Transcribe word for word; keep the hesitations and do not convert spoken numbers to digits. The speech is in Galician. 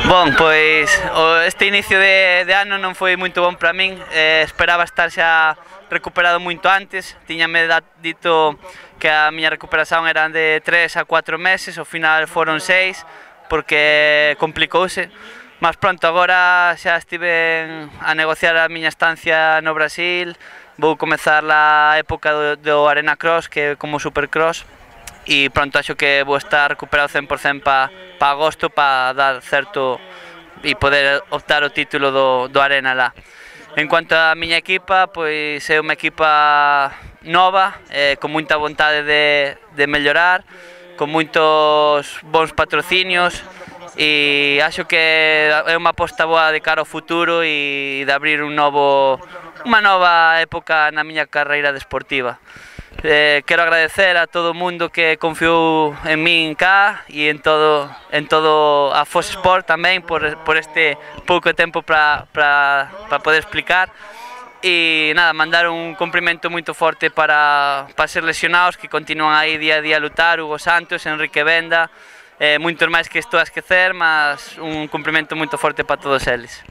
Bon, pois este inicio de, de ano non foi moito bon para min, eh, esperaba estar xa recuperado moito antes, tiñame dito que a miña recuperación eran de tres a cuatro meses, ao final foron seis, porque complicouse, mas pronto, agora xa estive a negociar a miña estancia no Brasil, vou comezar a época do, do Arena Cross, que é como Supercross, e pronto, acho que vou estar recuperado cen por cen para pa agosto para dar certo e poder optar o título do, do Arena lá. En cuanto a miña equipa, pois é unha equipa nova, eh, con moita vontade de, de mellorar, con moitos bons patrocinios, e acho que é unha aposta boa de cara ao futuro e de abrir un novo, unha nova época na miña carreira deportiva. Eh, quero agradecer a todo o mundo que confiou en min cá e en todo, en todo a Fox Sport tamén por, por este pouco tempo para para para poder explicar, e nada, mandar un cumprimento moito forte para, para ser lesionados que continúan aí día a día a lutar, Hugo Santos, Enrique Benda, eh, moitos máis que estou a esquecer, mas un cumprimento moito forte para todos eles.